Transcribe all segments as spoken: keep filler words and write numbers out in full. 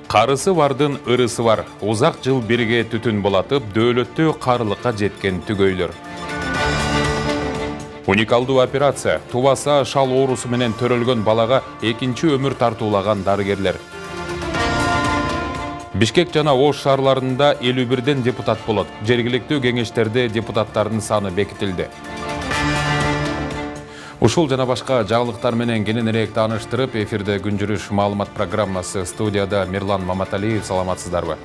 Карысы бардын ырысы бар. Узак жыл бирге түтүн булатып, дөөлөттүү карылыкка жеткен түгөйлөр. Уникалдуу операция. Тубаса шал оорусу менен төрөлгөн балага экинчи өмүр тартуулаган дарыгерлер. Бишкек жана Ош шаарларында элүү бирден депутат болот. Жергиликтүү кеңештерде депутаттардын саны бекитилди. Ушул жана башка жаңылыктар менен кененирээк тааныштырып, эфирде күн жүрүш маалымат программасы. Студияда Мирлан Маматалиев. Саламатсыздарбы?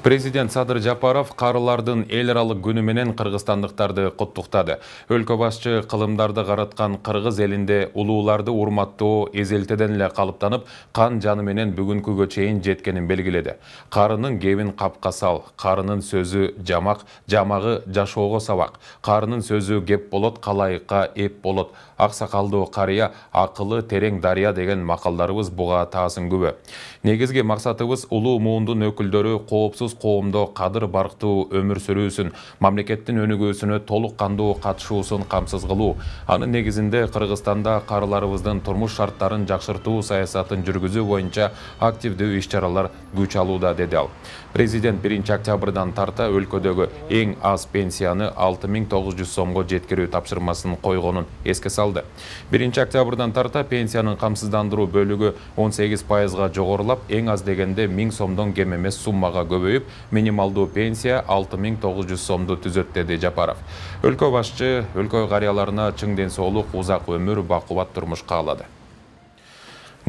Президент Садыр Жапаров карылардын эл аралык күнү менен кыргызстандыктарды куттуктады. Өлкө башчы кылымдарды караткан кыргыз элинде улууларды урматтоо эзелтеден эле калыптанып, кан жаны менен бүгүнкүгө чейин жеткенин белгиледи. Карынын кебин капка сал, карынын сөзү жамак, жамагы жашоого сабак. Карынын сөзү кеп болот, калайыкка эп болот. Аксакалдуу карыя, акылы терең дарыя деген макалдарыбыз буга таасын күбө. Негизги максатыбыз улуу муундун өкүлдөрү коопсуз коомдо кадыр барктуу өмүр сүрүүсүн, мамлекеттин өнүгүүсүнө толук кандуу катышуусун камсыз кылуу. Анын негизинде Кыргызстанда карыларыбыздын турмуш шарттарын жакшыртуу саясатын жүргүзүү боюнча активдүү иш-чаралар күч алууда, деди ал. Президент биринчи октябрдан тарта өлкөдөгү эң аз пенсияны алты миң тогуз жүз сомго жеткирүү тапшырмасын койгонун эске салды. биринчи октябрдан тарта пенсиянын камсыздандыруу бөлүгү он сегиз пайызга жогорулап, эң аз дегенде миң сомдон кем эмес суммага көбөйүп, минималдуу пенсия алты миң тогуз жүз сомду түзөт, деди Жапаров. Өлкө башчы өлкө карыяларына чың ден соолук, узак өмүр, бакубат турмуш каалады.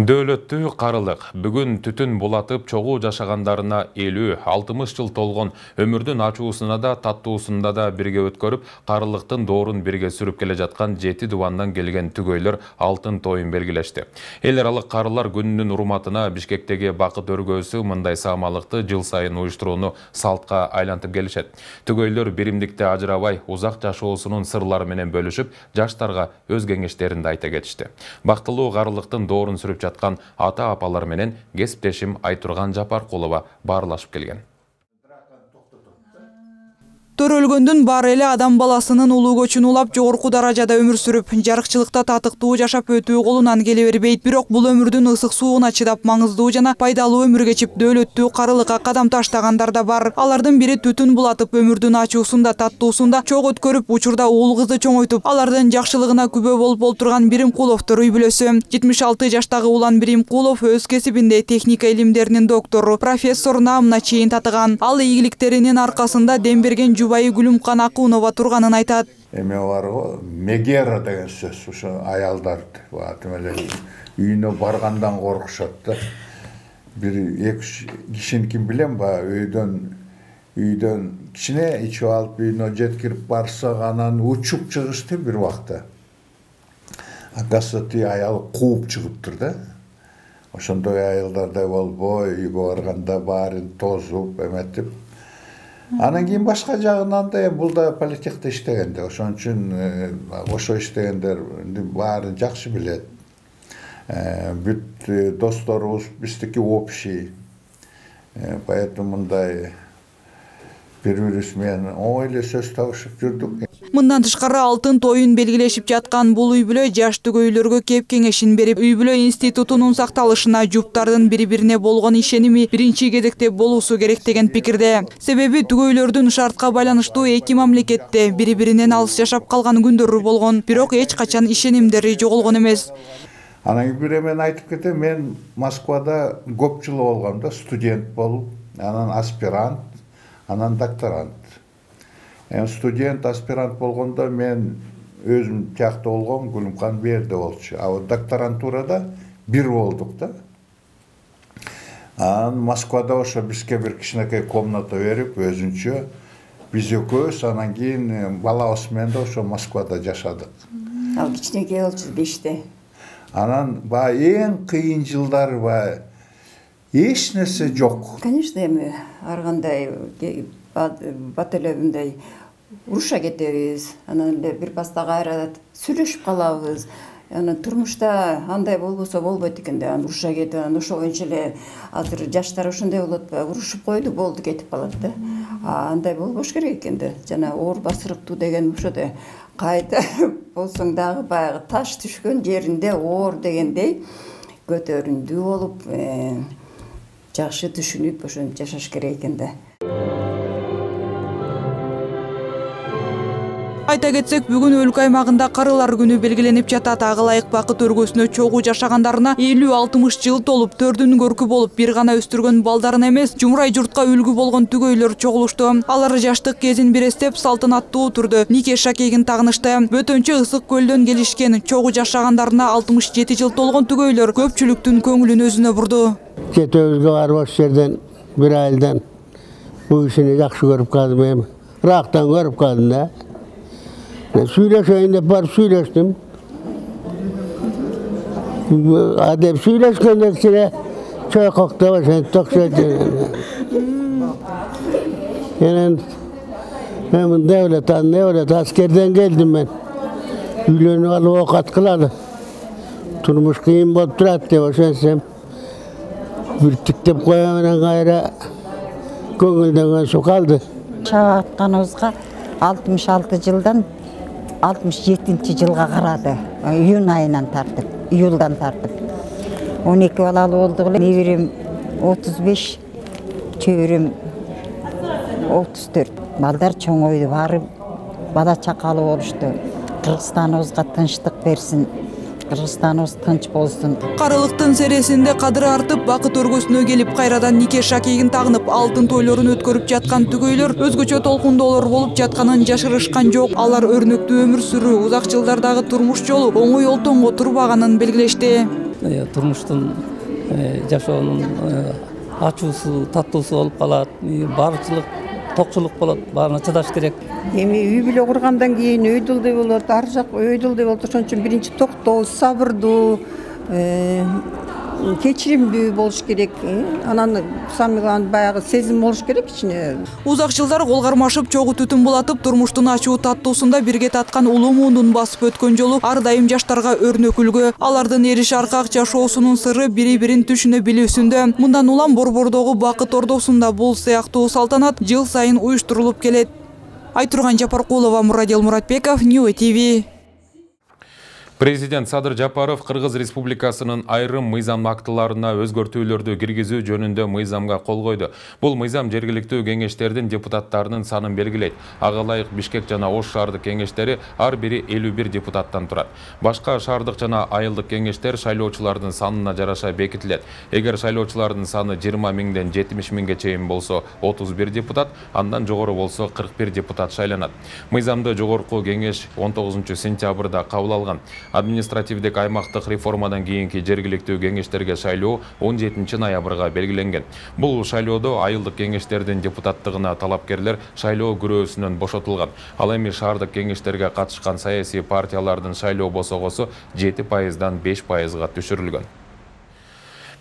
Дөөлөттүү карылык. Бүгүн түтүн булатып чогуу жашагандарына элүү алтымыш жыл толгон, өмүрдүн ачуусуна да, таттуусунда да бирге өткөрүп, карылыктын доорун бирге сүрүп келе жаткан жети дубандан келген түгөйлөр алтын тоюн белгилешти. Эл аралык карылар күнүнүн урматына Бишкектеги Бакыт өргөөсү мындай саамалыкты жыл сайын уюштурууну салтка айлантып келишет. Түгөйлөр биримдикте ажырабай, узак жашоосунун сырлары менен бөлүшүп, жаштарга өз кеңештерин да айта кетишти. Бактылуу карылыктын доорун сүрүп жаткан ата-апалар менен кесиптешим Айтурган Жапаркулова баарлашып келген. Төрөлгөндүн баары эле адам баласынын улуу көчүн улап, жогорку даражада өмүр сүрүп, жарыкчылыкта татыктуу жашап өтүү колунан келе бербейт. Бирок бул өмүрдүн ысык сууна чыдап, маңыздуу жана пайдалуу өмүр кечип, дөөлөттүү карылыкка кадам таштагандар да бар. Алардын бири түтүн булатып, өмүрдүн ачуусунда, таттуусунда чок өткөрүп, учурда уул кызды чоңойтуп, алардын жакшылыгына күбө болуп олтурган Биримкуловдор үй бүлөсү. жетимиш алты жаштагы Улан Биримкулов өз кесибинде техника илимдеринин доктору, профессор наамына чейин татыган. Ал ийгиликтеринин аркасында дем берген Жубайы Гүлүмкан Акунова турганын айтат. Эме барго, мегера деген сөз, ушу аялдарды, атымеле үйүнө баргандан коркушат да. Бир эки кишини ким билем ба, үйдөн үйдөн кичине ичип алып үйүнө жеткирип барсак, анан учуп чыгышты бир убакта. Акасы аял кууп чыгыптыр да. Ошондой аялдардай болбой, үйгө барганда баарын тозуп, эметип. Анан кийин башка жагынан да бул да политехте иштегенде, ошон үчүн ошо иштегендер баарын жакшы билет. Бүт досторубуз биздики общий. Поэтому мындай бири-бирибиз менен оңой эле сөз табышып жүрдүк. Мындан тышкары алтын тоюн белгилешип жаткан бул үй бүлө жаш түгөйлөргө кеп кеңешин берип, үй бүлө институтунун сакталышына, жуптардын бири-бирине болгон ишеними биринчи кезекте болуусу керек деген пикирде. Себеби түгөйлөрдүн шартка байланыштуу эки мамлекетте бири-биринен алыс жашап калган күндөрү болгон, бирок эч качан ишенимдери жоголгон эмес. Анан бир эмен айтып кетем, мен Москвада көп жыл болгом да, студент болуп, анан аспирант, анан докторант. Студент, аспирант болгондо мен өзүм тиякта болгом, Гүлүмкан берде болчу. А докторантурада бир болдук да. Анан Москвада ошо бизге бир кичинекей комната берип, өзүнчө биз экөөбүз, анан кийин балабыз менен да ошо Москвада жашадык. Ал кичинекей болчу беште. Анан баягы эң кыйын жылдар баягы эч нерсе жок. Конечно, эми ар кандай бат эле мындай уруша кетебиз, анан эле бир паста кайра сүйлөшүп калабыз. Анан турмушта андай болбосо болбойт экен да, анан уруша кетип, анан ошо боюнча эле азыр жаштар ошондой болот, урушуп койду, болду, кетип калат да. А андай болбош керек экен да. Жана оор басырыктуу деген ошо да кайта болсоң дагы баягы таш түшкөн жеринде оор дегендей көтөрүндүү болуп, жакшы түшүнүп ошентип жашаш керек экен да. Айта кетсек, бүгүн өлкө аймагында карылар күнү белгиленип жатат. Ага ылайык бакыт өргөсүнө чогуу жашагандарына элүү алтымыш жыл толуп, төрдүн көркү болуп, бир гана өстүргөн балдарына эмес, жумурай журтка үлгү болгон түгөйлөр чогулушту. Алар жаштык кезин бирестеп, салтанаттуу түрдө нике шакегин тагынышты. Бөтөнчө Ысык көлдөн келишкен, чогуу жашагандарына алтымыш жети жыл толгон түгөйлөр көпчүлүктүн көңүлүн өзүнө бурду. Кетөбүзгө барып ош жерден бир айылдан бул кишини жакшы көрүп калдым эми. Ырактан көрүп калдым да. Сүйлөшөйүн деп барып сүйлөштүм. Адеп сүйлөшкөндө кичине чойкоктоп ошентип окшойт. Менен мен мындай эле андай эле аскерден келдим мен. Үйлөнүп алып оокат кылалы. Турмуш кыйын болуп турат деп ошентсем. Бир тиктеп коем менен кайра көңүлдөн өсүп калды. Чаап атканыбызга алтымыш алты жылдан алтымыш жетинчи жылга карады. Июнь айынан тартып, июлдан тартып. он эки балалы болдук эле. Неберем отуз беш, чөбөрөм отуз төрт. Балдар чоңойду, баары бала чакалы болушту. Кыргызстаныбызга тынчтык берсин. Кыргызстаныбыз тынч болсун. Карылыктын сересинде кадыры артып, бакыт өргөсүнө келип, кайрадан нике шакегин тагынып, алтын тойлорун өткөрүп жаткан түгөйлөр өзгөчө толкундоолор болуп жатканын жашырышкан жок. Алар өрнөктүү өмүр сүрүү, узак жылдардагы турмуш жолу оңой олтоңго турбаганын белгилешти. Турмуштун жашоонун ачуусу, таттуусу болуп калат. Барчылык, токчулук болот, баарына чыдаш керек. Эми үй бүлө кургандан кийин өйдөлдөй болот, ар жак өйдөлдөй болот. Ошон үчүн биринчи токтоо, сабырдуу, кечиримдүү болуш керек. Анан самыган баягы сезим болуш керек ичине. Узак жылдар кол кармашып, чогуу түтүн булатып, турмуштун ачуу таттуусунда бирге таткан улуу муундун басып өткөн жолу ар дайым жаштарга өрнөк үлгү. Алардын эриш аркак жашоосунун сыры бири-бирин түшүнө билүүсүндө. Мындан улам Борбордогу Бакыт Ордосунда бул сыяктуу салтанат жыл сайын уюштурулуп келет. Айтурган Жапаркулова, Мурадел Муратбеков, Ньюс ти ви. Президент Садыр Жапаров Кыргыз Республикасынын айрым мыйзам актыларына өзгөртүүлөрдү киргизүү жөнүндө мыйзамга кол койду. Бул мыйзам жергиликтүү кеңештердин депутаттарынын санын белгилейт. Ага ылайык Бишкек жана Ош шаардык кеңештери ар бири элүү бир депутаттан турат. Башка шаардык жана айылдык кеңештер шайлоочулардын санына жараша бекитилет. Эгер шайлоочулардын саны жыйырма миңден жетимиш миңге чейин болсо отуз бир депутат, андан жогору болсо кырк бир депутат шайланат. Мыйзамды жогорку кеңеш он тогузунчу сентябрда кабыл алган. Административдик аймактык реформадан кийинки жергиликтүү кеңештерге шайлоо он жетинчи ноябрга белгиленген. Бул шайлоодо айылдык кеңештердин депутаттыгына талапкерлер шайлоо күрөөсүнөн бошотулган. Ал эми шаардык кеңештерге катышкан саясий партиялардын шайлоо босогосу жети пайыздан беш пайызга түшүрүлгөн.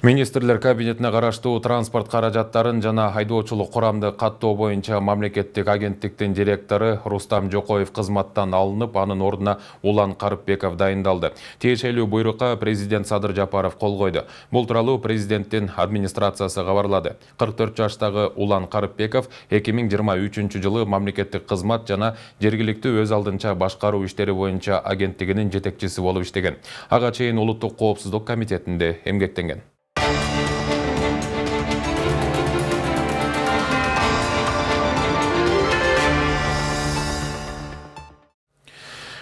Министрлер кабинетине караштуу транспорт каражаттарын жана айдоочулук курамды каттоо боюнча мамлекеттик агенттиктин директору Рустам Жокоев кызматтан алынып, анын ордуна Улан Карыпбеков дайындалды. Тиешелүү буйрукка президент Садыр Жапаров кол койду. Бул тууралуу президенттин администрациясы кабарлады. кырк төрт жаштагы Улан Карыпбеков эки миң жыйырма үчүнчү жылы мамлекеттик кызмат жана жергиликтүү өз алдынча башкаруу иштери боюнча агенттигинин жетекчиси болуп иштеген. Ага чейин улуттук коопсуздук комитетинде эмгектенген.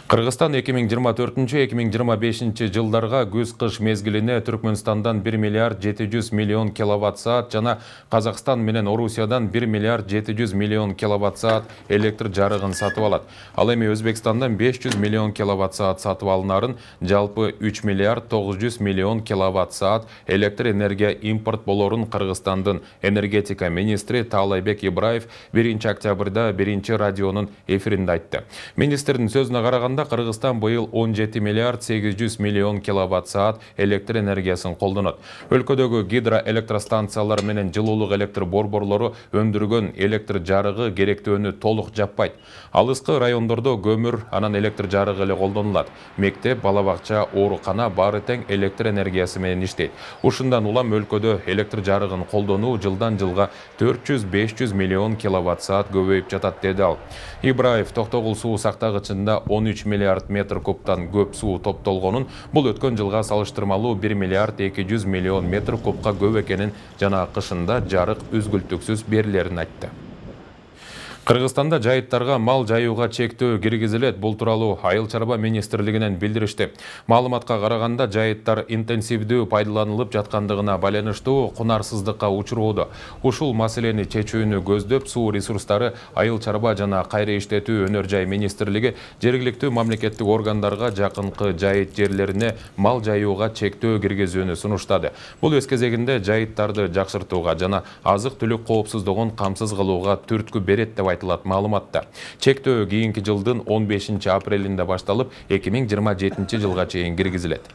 Кыргызстан эки миң жыйырма төртүнчү эки миң жыйырма бешинчи жылдарга күз-кыш мезгилине Түркмөнстандан бир миллиард жети жүз миллион киловатт саат жана Казакстан менен Орусиядан бир миллиард жети жүз миллион киловатт саат электр жарыгын сатып алат. Ал эми Өзбекстандан беш жүз миллион киловатт саат сатып алынарын, жалпы үч миллиард тогуз жүз миллион киловатт саат электр энергия импорт болорун Кыргызстандын энергетика министри Таалайбек Ибраев биринчи октябрда биринчи радионун эфиринде айтты. Министрдин сөзүнө караганда караганда Кыргызстан быйыл он жети миллиард сегиз жүз миллион киловатт саат электр энергиясын колдонот. Өлкөдөгү гидроэлектростанциялар менен жылуулук электр борборлору өндүргөн электр жарыгы керектөөнү толук жаппайт. Алыскы райондордо көмүр, анан электр жарыгы эле колдонулат. Мектеп, бала бакча, оорукана баары тең электр энергиясы менен иштейт. Ушундан улам өлкөдө электр жарыгын колдонуу жылдан жылга төрт жүз беш жүз миллион киловатт саат көбөйүп жатат, деди ал. Ибраев Токтогул суу сактагычында он үч миллиард метр кубтан көп суу топтолгонун, бул өткөн жылга салыштырмалуу бир миллиард эки жүз миллион метр кубка көп экенин жана кышында жарык үзгүлтүксүз берилерин айтты. Кыргызстанда жайыттарга мал жайууга чектөө киргизилет. Бул тууралуу Айыл чарба министрлигинен билдиришти. Маалыматка караганда жайыттар интенсивдүү пайдаланылып жаткандыгына байланыштуу кунарсыздыкка учурууда. Ушул маселени чечүүнү көздөп, суу ресурстары, айыл чарба жана кайра иштетүү өнөр жай министрлиги жергиликтүү мамлекеттик органдарга жакынкы жайыт жерлерине мал жайууга чектөө киргизүүнү сунуштады. Бул өз кезегинде жайыттарды жакшыртууга жана азык-түлүк коопсуздугун камсыз кылууга түрткү берет деп айтылат маалыматта. Чектөө кийинки жылдын он бешинчи апрелинде башталып, эки миң жыйырма жетинчи жылга чейин киргизилет.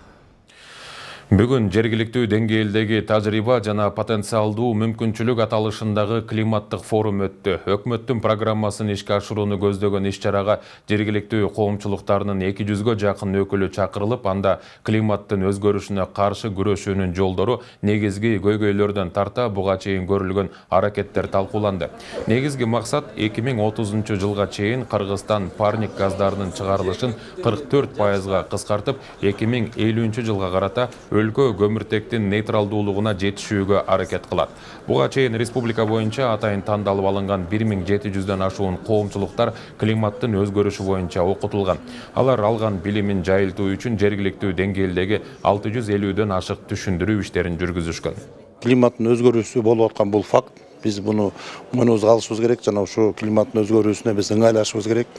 Бүгүн жергиликтүү деңгээлдеги тажрыйба жана потенциалдуу мүмкүнчүлүк аталышындагы климаттык форум өттү. Өкмөттүн программасын ишке ашырууну көздөгөн иш-чарага жергиликтүү коомчулуктарынын эки жүзгө жакын өкүлү чакырылып, анда климаттын өзгөрүшүнө каршы күрөшүүнүн жолдору, негизги көйгөйлөрдөн тарта буга чейин көрүлгөн аракеттер талкууланды. Негизги максат эки миң отузунчу жылга чейин Кыргызстан парник газдарынын чыгарылышын кырк төрт пайызга кыскартып, эки миң элүүнчү жылга карата өлкө көмүртектин нейтралдуулугуна жетишүүгө аракет кылат. Буга чейин республика боюнча атайын тандалып алынган бир миң жети жүздөн ашуун коомчулуктар климаттын өзгөрүшү боюнча окутулган. Алар алган билимин жайылтуу үчүн жергиликтүү деңгээлдеги алты жүз элүүдөн ашык түшүндүрүү иштерин жүргүзүшкөн. Климаттын өзгөрүүсү болуп аткан бул факт. Биз буну мойнубузга алышыбыз керек жана ушул климаттын өзгөрүүсүнө биз ыңгайлашыбыз керек.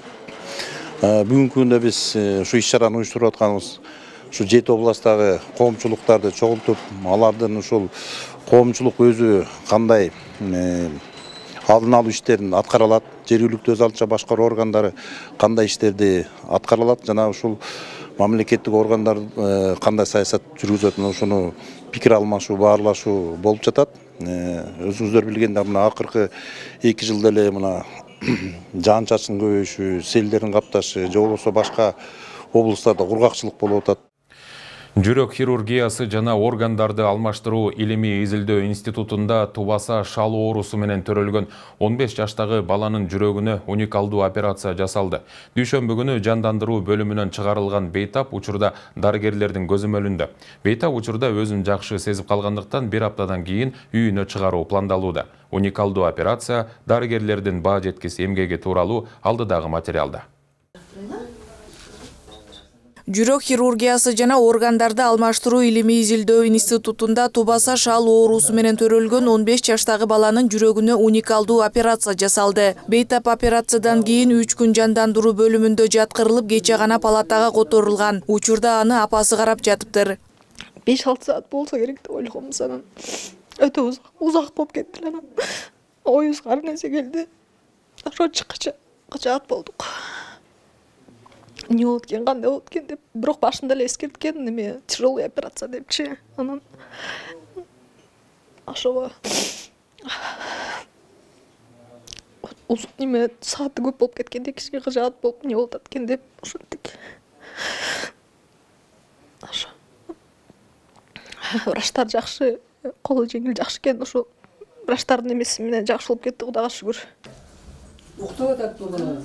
Бүгүнкү күндө биз ушу иш-чараны уюштуруп атканыбыз ушу жети областтагы коомчулуктарды чогултуп, алардын ушул коомчулук өзү кандай алдын алуу иштерин аткара алат, жергиликтүү өз алдынча башкаруу органдары кандай иштерди аткара алат жана ушул мамлекеттик органдар кандай саясат жүргүзөт, ошону пикир алмашуу, баарлашуу болуп жатат. Өзүңүздөр билгендей, мына акыркы эки жылда эле мына жаан-чачын көбөйүшү, селдердин капташы, же болбосо башка облустарда кургакчылык болуп атат. Жүрөк хирургиясы жана органдарды алмаштыруу илимий изилдөө институтунда тубаса шал оорусу менен төрөлгөн он беш жаштагы баланын жүрөгүнө уникалдуу операция жасалды. Дүйшөмбү күнү жандандыруу бөлүмүнөн чыгарылган Бейтап учурда дарыгерлердин көзөмөлүндө. Бейтап учурда өзүн жакшы сезип калгандыктан бир аптадан кийин үйүнө чыгаруу пландалууда. Уникалдуу операция дарыгерлердин баа жеткис эмгеги тууралуу алдыдагы материалда. Жүрөк хирургиясы жана органдарды алмаштыруу илимий изилдөө институтунда тубаса шал оорусу менен төрөлгөн он беш жаштагы баланын жүрөгүнө уникалдуу операция жасалды. Бейтап операциядан кийин үч күн жандандыруу бөлүмүндө жаткырылып, кече гана палатага которулган. Учурда аны апасы карап жатыптыр. беш алты саат болсо керек деп ойлогонбуз, анан өтө узак болуп кетти. Анан оюбузга ар нерсе келди. Ошо чыккыча кычаат болдук. Не болот экен, кандай болот экен деп, бирок башында эле эскерткен, неме тяжелый операция депчи. Анан ошого неме сааты көп болуп кеткенде кичине кыжаат болуп, не болот экен деп ошентип. Ошо врачтар жакшы, колу жеңил жакшы экен, ошо врачтардын эмеси менен жакшы болуп кетти, Кудайга шүгүр. Уктап атат болгону.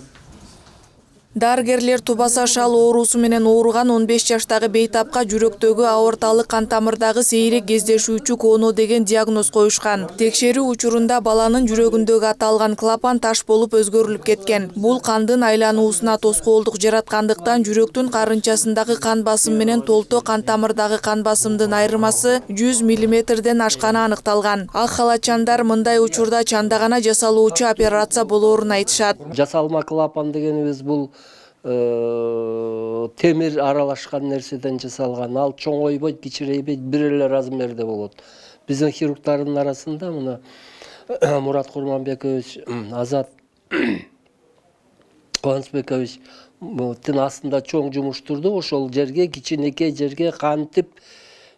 Дарыгерлер тубаса шал оорусу менен ооруган он беш жаштагы Бейтапка жүрөктөгү аорталык кан тамырдагы сейрек кездешүүчү кооно деген диагноз коюшкан. Текшерүү учурунда баланын жүрөгүндөгү аталган клапан таш болуп өзгөрүлүп кеткен. Бул кандын айлануусуна тоскоолдук жараткандыктан жүрөктүн карынчасындагы кан басым менен толто кан тамырдагы кан басымдын айырмасы жүз миллиметрден ашканы аныкталган. Ак халатчандар мындай учурда чанда гана жасалуучу операция болоорун айтышат. Жасалма клапан дегенибиз бул темир аралашкан нерседен жасалган. Ал чоңойбойт, кичирейбейт, бир эле размерде болот. Биздин хирургтардын арасында мына Мурат Курманбекович, Азат Кубанычбекович тын астында чоң жумуштурду ошол жерге кичинекей жерге кантип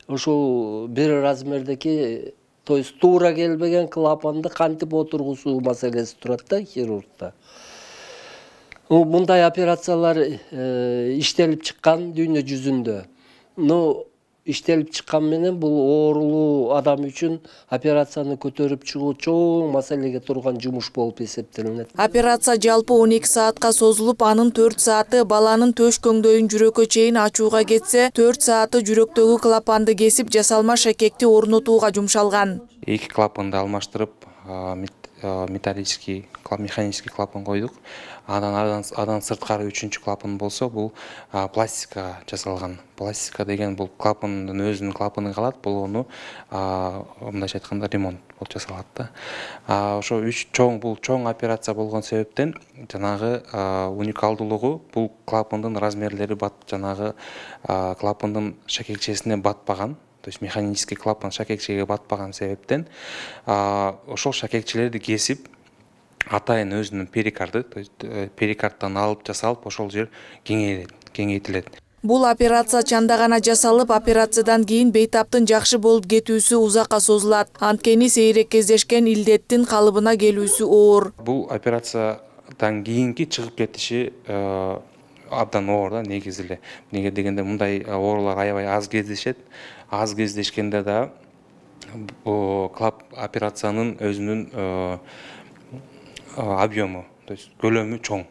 ошол бир размердеки, то есть туура келбеген клапанды кантип отургузуу маселеси турат да хирургда. Мындай операциялар иштелип чыккан дүйнө жүзүндө. Но иштелип чыккан менен бул оорулуу адам үчүн операцияны көтөрүп чыгуу чоң маселеге турган жумуш болуп эсептелинет. Операция жалпы он эки саатка созулуп, анын төрт сааты баланын төш көңдөйүн жүрөккө чейин ачууга кетсе, төрт сааты жүрөктөгү клапанды кесип, жасалма шакекти орнотууга жумшалган. Эки клапанды алмаштырып, металлический, механический клапан койдук. Андан адан сырткары үчүнчү клапан болсо, бул пластика жасалган. Пластика деген бул клапандын өзүнүн клапаны калат, бул ону мындайча айтканда ремонт болуп жасалат да. Ошо үч чоң бул чоң операция болгон себептен жанагы уникалдуулугу бул клапандын размерлери бат жанагы клапандын шакекчесине батпаган. То есть механический клапан шакекчеге батпаган себептен ошол шакекчелерди кесип атайын өзүнүн перикарды, то есть перикардтан алып жасалып, ошол жер кеңейтилет. Бул операция чанда гана жасалып, операциядан кийин бейтаптын жакшы болуп кетүүсү узакка созулат. Анткени сейрек кездешкен илдеттин калыбына келүүсү оор. Бул операциядан кийинки чыгып кетиши абдан оор да, негизи эле. Неге дегенде мындай оорулар аябай аз кездешет. Аз кездешкенде да клап операциянын өзүнүн объему, то есть көлөмү чоң.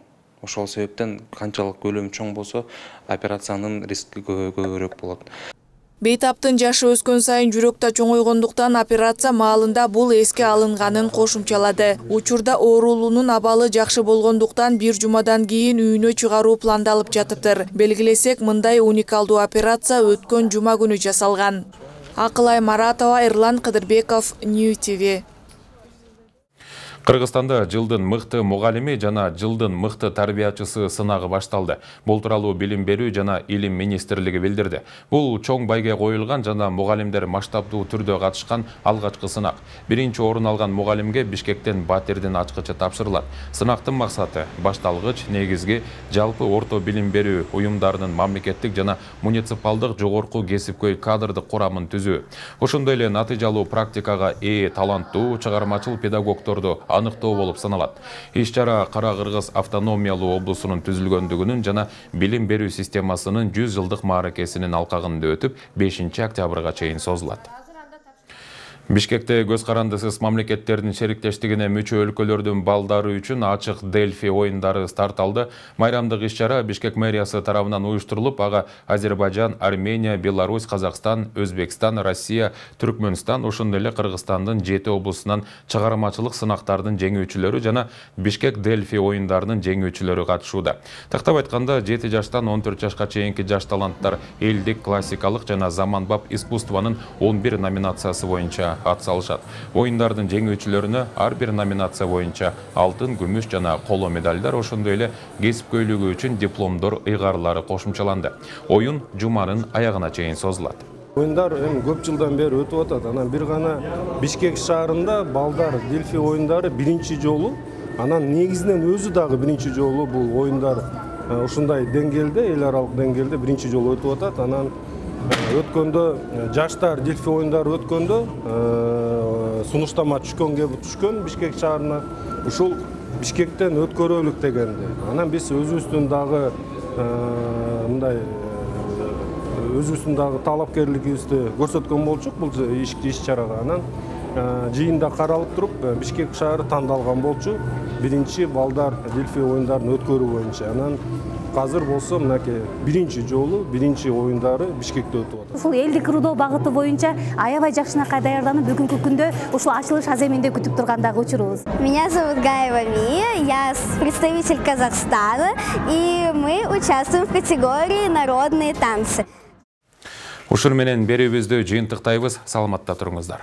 Ошол себептен канчалык көлөмү чоң болсо, операциянын риски көбүрөөк болот. Бейтаптын жашы өскөн сайын жүрөктө чоңойгондуктан операция маалында бул эске алынганын кошумчалады. Учурда оорулуунун абалы жакшы болгондуктан бир жумадан кийин үйүнө чыгаруу пландалып жатыптыр. Белгилесек, мындай уникалдуу операция өткөн жума күнү жасалган. Акылай Маратова, Эрлан Кыдырбеков, Нью ти ви. Кыргызстанда жылдын мыкты мугалими жана жылдын мыкты тарбиячысы сынагы башталды. Бул тууралуу Билим берүү жана Илим министрлиги билдирди. Бул чоң байге коюлган жана мугалимдер масштабдуу түрдө катышкан алгачкы сынак. Биринчи орун алган мугалимге Бишкектен батирдин ачкычы тапшырылат. Сынактын максаты башталгыч, негизги, жалпы орто билим берүү уюмдарынын мамлекеттик жана муниципалдык жогорку кесипкөй кадрдык курамын түзүү. Ошондой эле натыйжалуу практикага ээ таланттуу чыгармачыл педагогдорду аныктоо болуп саналат. Иш-чара Кара Кыргыз автономиялуу облусунун түзүлгөндүгүнүн жана билим берүү системасынын жүз жылдык мааракесинин алкагында өтүп, бешинчи октябрга чейин созулат. Бишкекте көз карандысыз мамлекеттердин шериктештигине мүчө өлкөлөрдүн балдары үчүн ачык Дельфи оюндары старт алды. Майрамдык иш-чара Бишкек мэриясы тарабынан уюштурулуп, ага Азербайжан, Армения, Беларусь, Казакстан, Өзбекстан, Россия, Түркмөнстан, ошондой эле Кыргызстандын жети облусунан чыгармачылык сынактардын жеңүүчүлөрү жана Бишкек Дельфи оюндарынын жеңүүчүлөрү катышууда. Тактап айтканда, жети жаштан он төрт жашка чейинки жаш таланттар элдик, классикалык жана заманбап искусствонун он бир номинациясы боюнча ат салышат. Оюндардын жеңүүчүлөрүнө ар бир номинация боюнча алтын, күмүш жана коло медалдар, ошондой эле кесипкөйлүгү үчүн дипломдор, ыйгарлары кошумчаланды. Оюн жуманын аягына чейин созулат. Оюндар эми көп жылдан бери өтүп атат. Анан бир гана Бишкек шаарында балдар Дельфи оюндары биринчи жолу, анан негизинен өзү дагы биринчи жолу бул оюндар ушундай деңгээлде, эл аралык деңгээлде биринчи жолу өтүп атат. Анан өткөндө жаштар Дельфи оюндары өткөндө сунуштама түшкөн кеп түшкөн Бишкек шаарына. Ушул Бишкектен өткөрөлүк дегенди. Анан биз өзүбүздүн дагы мындай өзүбүздүн дагы талапкерлигибизди көрсөткөн болчук бул иш-чарага. Анан жыйында каралып туруп Бишкек шаары тандалган болчу биринчи балдар Дельфи оюндарын өткөрүү боюнча. Анан азыр болсо мынакей биринчи жолу биринчи оюндары Бишкекте өтүп атат. Ушул элдик рудоо багыты боюнча аябай жакшынакай даярданып, бүгүнкү күндө ушул ачылыш аземинде күтүп тургандагы учурубуз. Меня зовут Гаева Мия, я представитель Казахстана, и мы участвуем в категории народные танцы. Ушур менен берүүбүздү жыйынтыктайбыз. Саламатта туруңуздар.